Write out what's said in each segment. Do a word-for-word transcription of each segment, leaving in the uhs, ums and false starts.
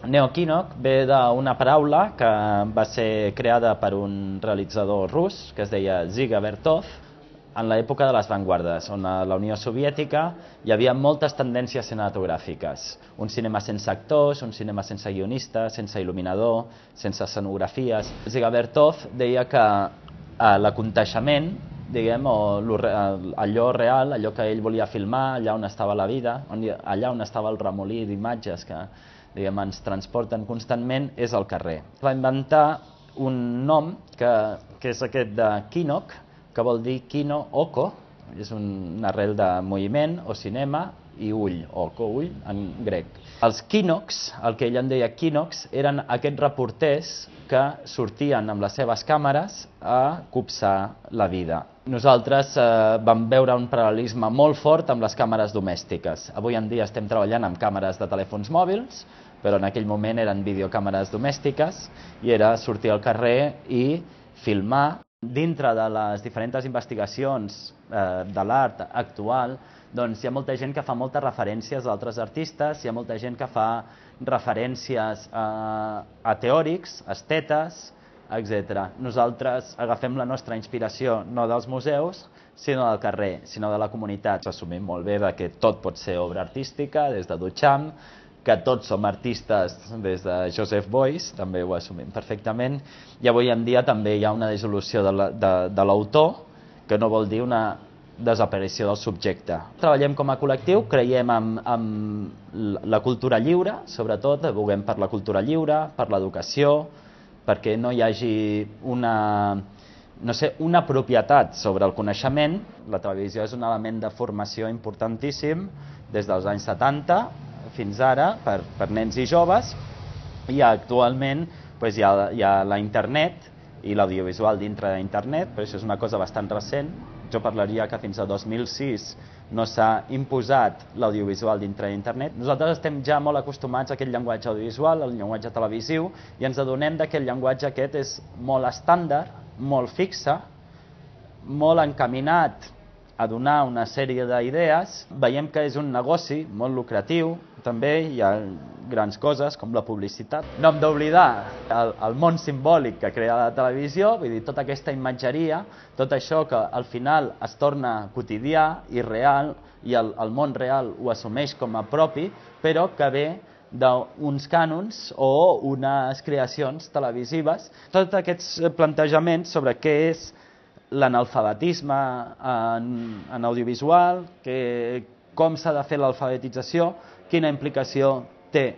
Neokinok ve d'una paraula que va ser creada per un realitzador rus que es deia Dziga Vertov en l'època de les vanguardes, on a la Unió Soviètica hi havia moltes tendències cinematogràfiques. Un cinema sense actors, un cinema sense guionista, sense il·luminador, sense escenografies. Dziga Vertov deia que eh, l'aconteixement, diguem, o allò real, allò que ell volia filmar, allà on estava la vida, on, allà on estava el remolí d'imatges que diguem, ens transporten constantment, és el carrer. Va inventar un nom que, que és aquest de Kinok, que vol dir kino, oko, és un, una arrel de moviment o cinema, i ull, oko, ull, en grec. Els Kinoks, el que ell en deia Kinoks, eren aquests reporters que sortien amb les seves càmeres a copsar la vida. Nosaltres eh, vam veure un paral·lelisme molt fort amb les càmeres domèstiques. Avui en dia estem treballant amb càmeres de telèfons mòbils, però en aquell moment eren videocàmeres domèstiques i era sortir al carrer i filmar. Dintre de les diferents investigacions eh, de l'art actual, doncs hi ha molta gent que fa moltes referències a altres artistes, hi ha molta gent que fa referències a, a teòrics, estetes, etcètera. Nosaltres agafem la nostra inspiració no dels museus, sinó del carrer, sinó de la comunitat. Assumim molt bé que tot pot ser obra artística, des de Duchamp, que tots som artistes des de Joseph Beuys, també ho assumim perfectament, i avui en dia també hi ha una dissolució de l'autor, que no vol dir una desaparició del subjecte. Treballem com a col·lectiu, creiem en, en la cultura lliure, sobretot, advoguem per la cultura lliure, per l'educació, perquè no hi hagi una, no sé, una propietat sobre el coneixement. La televisió és un element de formació importantíssim des dels anys setanta, fins ara, per, per nens i joves, i actualment pues, hi, ha, hi ha la internet i l'audiovisual dintre d'internet, però això és una cosa bastant recent. Jo parlaria que fins a dos mil sis no s'ha imposat l'audiovisual dintre d'internet. Nosaltres estem ja molt acostumats a aquest llenguatge audiovisual, al llenguatge televisiu, i ens adonem que el llenguatge aquest és molt estàndard, molt fixe, molt encaminat a donar una sèrie d'idees. Veiem que és un negoci molt lucratiu, també hi ha grans coses com la publicitat. No hem d'oblidar el, el món simbòlic que crea la televisió, vull dir, tota aquesta imatgeria, tot això que al final es torna quotidià i real, i el, el món real ho assumeix com a propi, però que ve d'uns cànons o unes creacions televisives. Tots aquests plantejaments sobre què és l'analfabetisme en, en audiovisual, que, com s'ha de fer l'alfabetització, quina implicació té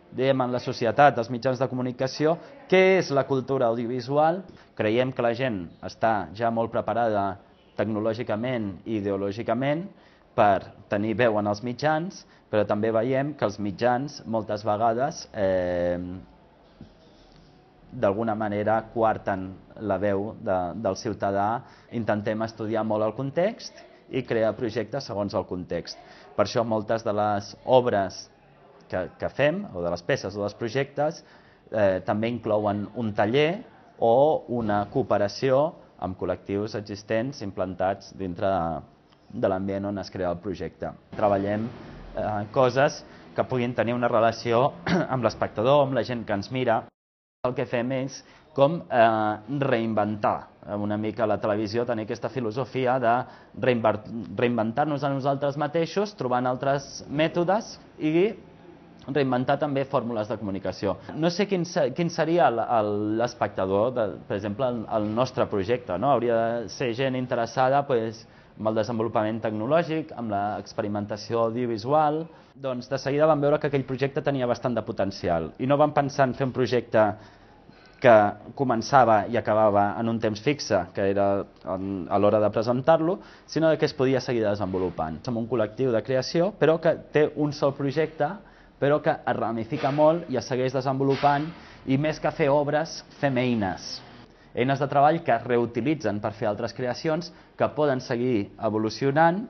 diguem, en la societat, els mitjans de comunicació, què és la cultura audiovisual. Creiem que la gent està ja molt preparada tecnològicament i ideològicament per tenir veu en els mitjans, però també veiem que els mitjans moltes vegades eh, d'alguna manera coarten la veu de, del ciutadà. Intentem estudiar molt el context i crear projectes segons el context. Per això moltes de les obres que, que fem, o de les peces o dels projectes, eh, també inclouen un taller o una cooperació amb col·lectius existents implantats dintre de, de l'ambient on es crea el projecte. Treballem eh, coses que puguin tenir una relació amb l'espectador, amb la gent que ens mira. El que fem és com eh, reinventar una mica la televisió, tenir aquesta filosofia de reinventar-nos a nosaltres mateixos, trobant altres mètodes i reinventar també fórmules de comunicació. No sé quin, quin seria l'espectador, per exemple, el nostre projecte, no? Hauria de ser gent interessada pues, amb el desenvolupament tecnològic, amb l'experimentació audiovisual. Doncs de seguida vam veure que aquell projecte tenia bastant de potencial i no vam pensar en fer un projecte que començava i acabava en un temps fixe, que era a l'hora de presentar-lo, sinó que es podia seguir desenvolupant. Som un col·lectiu de creació, però que té un sol projecte, però que es ramifica molt i es segueix desenvolupant, i més que fer obres, fem eines. Eines de treball que es reutilitzen per fer altres creacions, que poden seguir evolucionant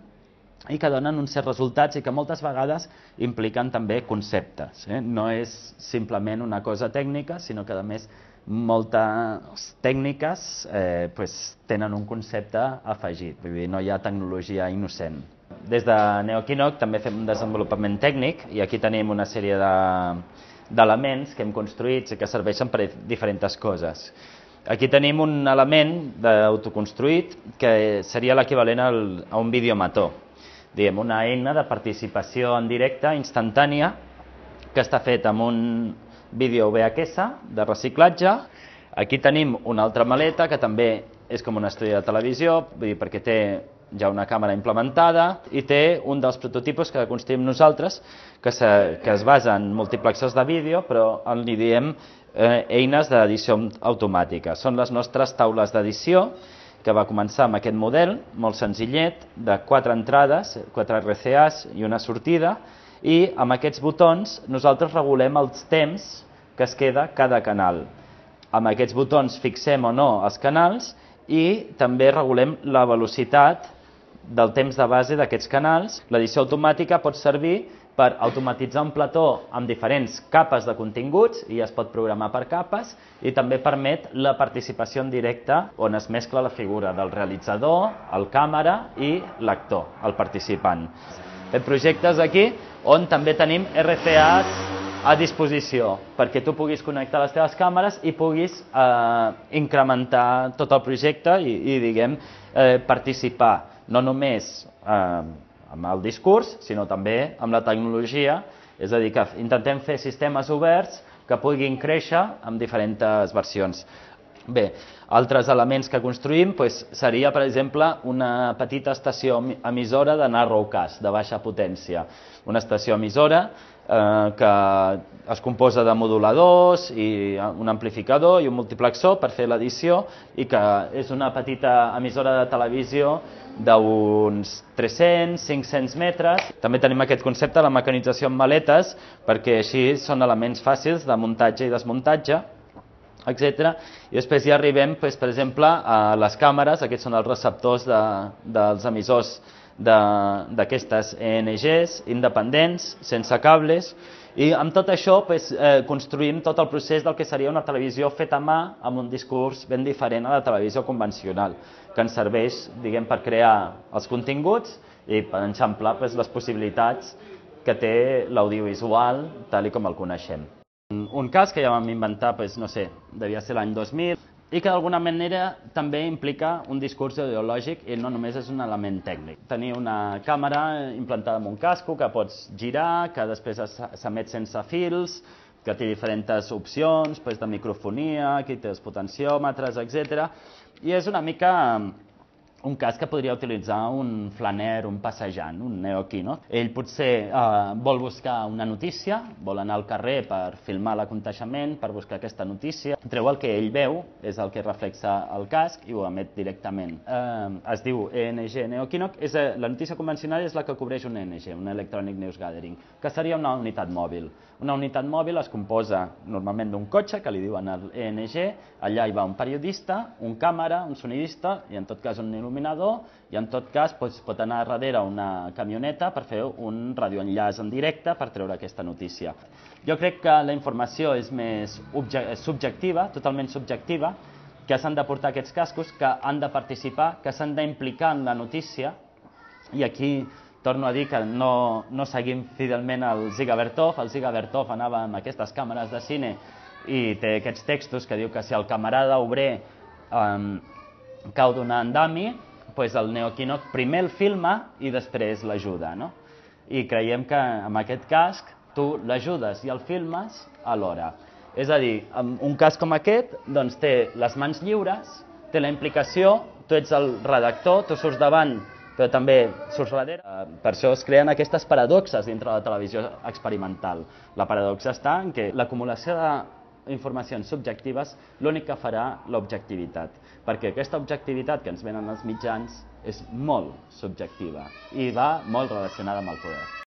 i que donen uns certs resultats i que moltes vegades impliquen també conceptes. Eh? No és simplement una cosa tècnica, sinó que a més moltes tècniques eh, pues, tenen un concepte afegit, vull dir, no hi ha tecnologia innocent. Des de Neokinok també fem un desenvolupament tècnic i aquí tenim una sèrie de, d'elements que hem construït i que serveixen per diferents coses. Aquí tenim un element d'autoconstruït que seria l'equivalent a un videomató, diguem, una eina de participació en directe instantània que està fet amb un vídeo V H S de reciclatge. Aquí tenim una altra maleta que també és com un estudi de televisió, vull dir, perquè té ja una càmera implementada i té un dels prototipus que construïm nosaltres que, se, que es basa en multiplexors de vídeo, però en li diem eh, eines d'edició automàtica. Són les nostres taules d'edició, que va començar amb aquest model, molt senzillet, de quatre entrades, quatre R C As i una sortida, i amb aquests botons nosaltres regulem els temps que es queda cada canal. Amb aquests botons fixem o no els canals i també regulem la velocitat del temps de base d'aquests canals. L'edició automàtica pot servir per automatitzar un plató amb diferents capes de continguts i es pot programar per capes, i també permet la participació en directe on es mescla la figura del realitzador, el càmera i l'actor, el participant. Fem projectes aquí on també tenim R C As a disposició perquè tu puguis connectar les teves càmeres i puguis eh, incrementar tot el projecte i, i diguem, eh, participar no només eh, amb el discurs, sinó també amb la tecnologia, és a dir, que intentem fer sistemes oberts que puguin créixer amb diferents versions. Bé, altres elements que construïm doncs, seria, per exemple, una petita estació emissora de narrowcast, de baixa potència. Una estació emissora eh, que es composa de moduladors, i un amplificador i un multiplexor per fer l'edició, i que és una petita emissora de televisió d'uns tres-cents a cinc-cents metres. També tenim aquest concepte de la mecanització en maletes, perquè així són elements fàcils de muntatge i desmuntatge, etcètera. I després ja arribem, doncs, per exemple, a les càmeres. Aquests són els receptors de, dels emissors d'aquestes E N Gs independents, sense cables, i amb tot això doncs, eh, construïm tot el procés del que seria una televisió feta a mà amb un discurs ben diferent a la televisió convencional, que ens serveix, diguem, per crear els continguts i per enxamplar doncs, les possibilitats que té l'audiovisual tal com el coneixem. Un cas que ja vam inventar, doncs, no sé, devia ser l'any dos mil, i que d'alguna manera també implica un discurs ideològic i no només és un element tècnic. Tenir una càmera implantada en un casco que pots girar, que després s'emet sense fils, que té diferents opcions doncs, de microfonia, aquí té els potenciòmetres, etcètera. I és una mica un cas que podria utilitzar un flaner, un passejant, un neoquino. Ell potser eh, vol buscar una notícia, vol anar al carrer per filmar l'aconteixement, per buscar aquesta notícia. Treu el que ell veu, és el que reflexa el casc i ho emet directament. Eh, es diu E N G Neoquino. És, eh, la notícia convencional és la que cobreix un E N G, un Electronic News Gathering, que seria una unitat mòbil. Una unitat mòbil es composa normalment d'un cotxe, que li diuen el E N G, allà hi va un periodista, un càmera, un sonidista i en tot cas un il·luminador, i en tot cas doncs, pot anar darrere una camioneta per fer un radioenllaç en directe per treure aquesta notícia. Jo crec que la informació és més subjectiva, totalment subjectiva, que s'han de portar aquests cascos, que han de participar, que s'han d'implicar en la notícia, i aquí torno a dir que no, no seguim fidelment el Dziga Vertov. El Dziga Vertov anava amb aquestes càmeres de cine i té aquests textos que diu que si el camarada obrer um, cau d'un andami, doncs el neoquino primer el filma i després l'ajuda, no? I creiem que amb aquest casc tu l'ajudes i el filmes alhora. És a dir, amb un casc com aquest doncs, té les mans lliures, té la implicació, tu ets el redactor, tu surts davant però també surts darrere. Per això es creen aquestes paradoxes dintre de la televisió experimental. La paradoxa està en que l'acumulació d'informacions subjectives l'únic que farà l'objectivitat, perquè aquesta objectivitat que ens venen els mitjans és molt subjectiva i va molt relacionada amb el poder.